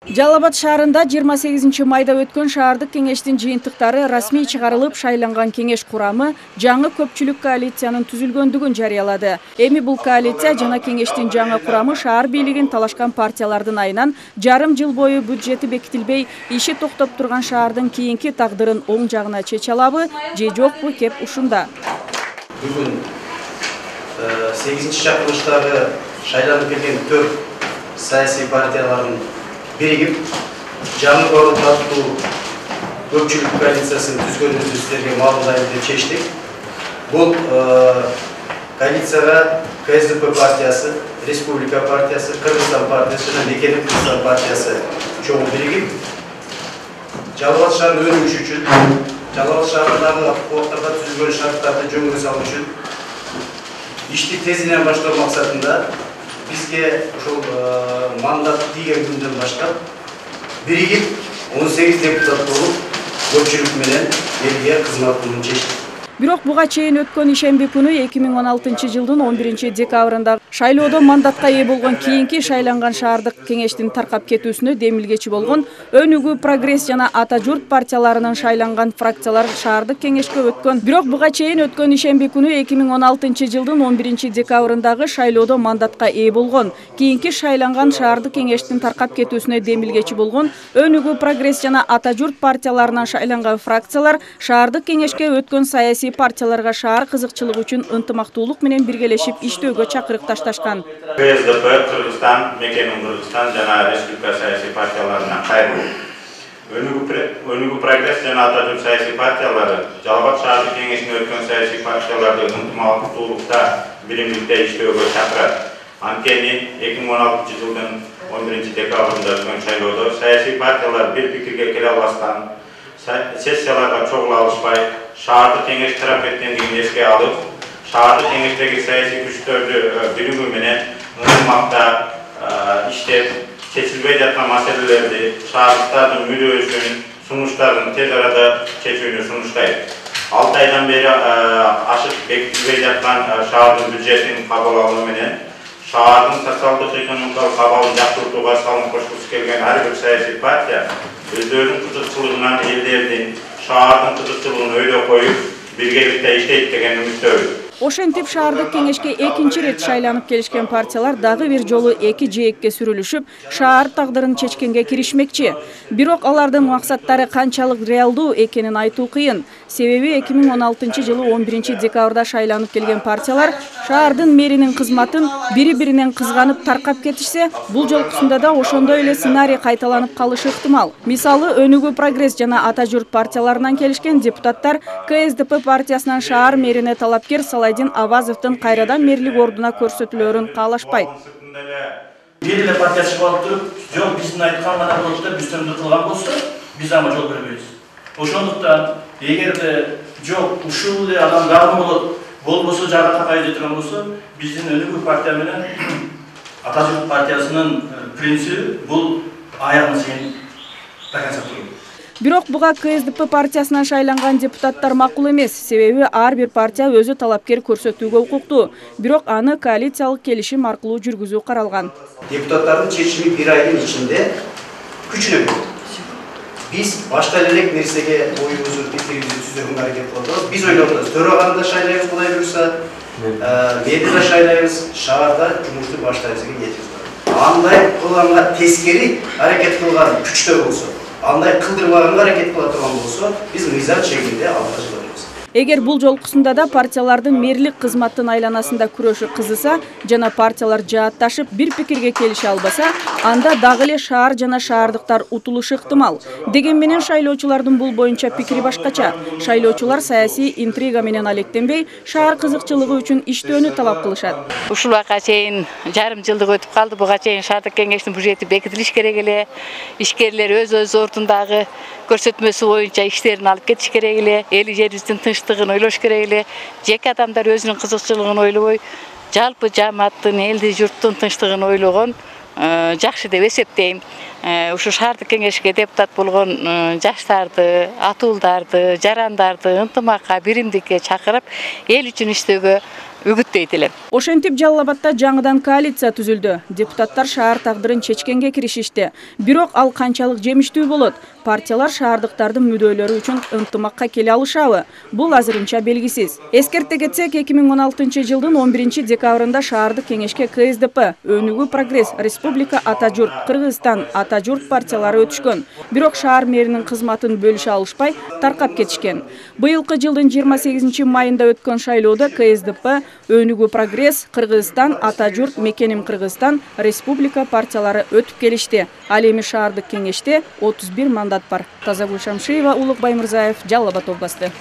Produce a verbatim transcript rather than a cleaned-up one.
Жалал Абад шаарында жыйырма сегизинчи майда өткөн шаардык кеңештин жыйынтыктары расмий чыгарылып, шайланган кеңеш курамы жаңы көпчүлүк коалициянын түзүлгөндүгүн жарыялады. Эми бул коалиция жана кеңештин жаңы курамы шаар бийлигин талашкан партиялардын айынан жарым жыл бою бюджети бекитилбей, иши токтоп турган шаардын кийинки тагдырын оң жагына чече алабы же жокпу кеп ушунда. Бүгүн сегизинчи чакырылыштагы шайланып келген төрт саясий партиялардын birigip жаңы коалициялуу көпчүлүк коалициясын түзгөнүбүздү сиздерге маалымдайбыз деп чечтик. Бул коалицияга К С Д П партиясы, Республика партиясы, Кыргызстан партиясы жана Мекенин Кыргызстан партиясы чоң биригип, Жалал Абад шаарынын өнүгүшү үчүн, Жалал Абад шаарындагы кооптарга түзүлгөн шарттарды жөнгө салуу үчүн ишти тезинен баштоо максатында бизге ошол мандат тийген күндөн баштап биригип он сегиз депутат болуп көпчүлүк менен элге кызмат кылууну чечтик. Бирок буга чейин өткөн ишемби күнү эки миң он алтынчы жылдын он биринчи декабрында шайлоодо мандатка ээ болгон кийинки шайланган шаардык кеңештин таркап кетүүсүнө демилгечи болгон Өнүгүү, Прогресс жана Ата журт партияларынын шайланган фракциялар шаардык кеңешке өткөн. Бирок буга чейин өткөн ишемби күнү эки миң он алтынчы жылдын он биринчи декабрындагы шайлоодо мандатка ээ болгон кийинки шайланган шаардык кеңештин таркап кетүүсүнө демилгечи болгон Өнүгүү, Прогресс жана Ата журт партияларынан шайланган фракциялар шаардык кеңешке өткөн саясий партияларга шаар кызыкчылыгы үчүн ынтымактуулук менен биргелешип иштөөгө чакырык ташташкан. К С Д П, Кыргызстан, Мекенин Кыргызстан жана Республика саясий партияларына кайрылуу. Өнүгүү, Прогресс жана Ата журт саясий партиялары Жалал Абад шаардык кеңешине өткөн саясий партияларды ынтымактуулукта, биримдикте иштөөгө чакырат. Анткени эки миң он алтынчы жылдын он биринчи декабрында өткөн шайлоодо саясий партиялар бир пикирге келе албастан, сессияларга чогула алышпай, шаардык кеңеш тарап кеткендигин эске алып, шаардык кеңештеги саясий күчтөрдү биригүү менен ынтымакта иштеп, чечилбей жаткан маселелерди, шаардыктардын мүдөөсүн, сунуштарын тез арада чечүүнү сунуштайт. алты айдан бери ашык бекитилбей жаткан шаардын бюджетин кабыл алуу менен шаардын социалдык экономикалык абалын жакшыртууга салым кошкусу келген ар бир саясий партия өздөрүнүн кызыкчылыгынан элдердин шаардын кызыкчылыгын өйдө коюп, биргеликте иштейт деген үмүттөбүз. Ошентип шаардык кеңешке экинчи рет шайланып келишкен партиялар дагы бир жолу эки жээкке сүрүлүшүп, шаар тагдырын чечкенге киришмекчи. Бирок алардын максаттары канчалык реалдуу экенин айтуу кыйын. Себеби эки миң он алтынчы жылы он биринчи декабрда шайланып келген партиялар шаардын мэринин кызматын бири-биринен кызганып таркап кетишсе, бул жолкусунда да ошондой эле сценарий кайталанып калышы ыктымал. Мисалы, Өнүгүү, Прогресс жана Ата журт партияларынан келишкен депутаттар К С Д П партиясынан шаар мэрине талапкер Салайдин Авазовдун кайрадан мэрлик ордуна көрсөтүлөөрүн каалашпайт. Бир эле партия чыгып алып туруп, жок биздин айткан гана болот деп үстөмдүк кылган болсо, биз ага жол бербейбиз. Ошондуктан эгерде жок ушул эле адам дагы болот, болбосо жагы тапай деп турган болсо, биздин Өнүгүү партия менен Ата журт партиясынын принциби бул аягына чейин до конца туруу. Бирок буга К С Д П партиясынан шайланган депутаттар макул эмес, себеби ар бир партия өзү талапкер көрсөтүүгө укуктуу. Бирок аны коалициялык келишим аркылуу жүргүзүү каралган. Депутаттардын чечими бир айдын ичинде күчүнө кирди. Биз башка элек нерсеге оюбузду, пикирибизди түзүүгө аракет кылабыз. Биз ойлогонбуз, төраганы да шайлайбыз, кудай буюрса, мэрди да шайлайбыз, шаарда жумушту баштайбыз деген ниетибиз бар. Андай кылганга тескери аракет кылган күчтөр болсо, андай кылдырбаганга аракет кыла турган болсо, биз мыйзам чегинде алга жылабыз. Эгер бул жолкусунда да партиялардын мэрлик кызматтын айланасында күрөшү кызыса жана партиялар жаатташып бир пикирге келише албаса, анда дагы эле шаар жана шаардыктар утулушу ыктымал. Деген менен шайлоочулардын бул боюнча пикири башкача. Шайлоочулар саясий интрига менен алектенбей, шаар кызыкчылыгы үчүн иштөөнү талап кылышат. Ушул убакка чейин жарым жылдык өтүп калды. Буга чейин шаардык кеңештин бюджети бекитилиш керек эле. Ишкерлер өз өз ордундагы көрсөтмөсү боюнча иштерин алып кетиш керек эле. Эл жерибиздин тынчтыгын ойлош керек эле. Жеке адамдар өзүнүн кызыкчылыгын ойлобой, жалпы жамааттын, элди, журттун тынчтыгын ойлогон жакшы деп эсептейм. Ушу шаардык кеңешке депутат болгон жаштарды, атуулдарды, жарандарды ынтымакка, биримдикке чакырып, эл үчүн иштөөгө үгүттейт элем. Ошентип Жалал Абадда жаңыдан коалиция түзүлдү. Депутаттар шаар тагдырын чечкенге киришишти. Бирок ал канчалык жемиштүү болот? Партиялар шаардыктардын мүдөлөрү үчүн ынтымакка келе алышабы? Бул азырынча белгисиз. Эскерте кетсек, эки миң он алтынчы жылдын он биринчи декабрында шаардык кеңешке Ка Эс Д П, Өнүгүү Прогресс, Республика Ата Журт, Кыргызстан Ата Журт партиялары өтүшкөн. Бирок шаар мэринин кызматын бөлүшө алышпай таркап кетишкен. Быйылкы жылдын жыйырма сегизинчи майында өткөн шайлоодо Ка Эс Д П, Өнүгүү Прогресс, Кыргызстан Ата Журт, Мекеним Кыргызстан, Республика партиялары өтүп келишти. Ал эми шаардык кеңеште отуз бир мандат бар. Тазагүл Шамшиева, Улук Баймырзаев, Жалал Абад областы.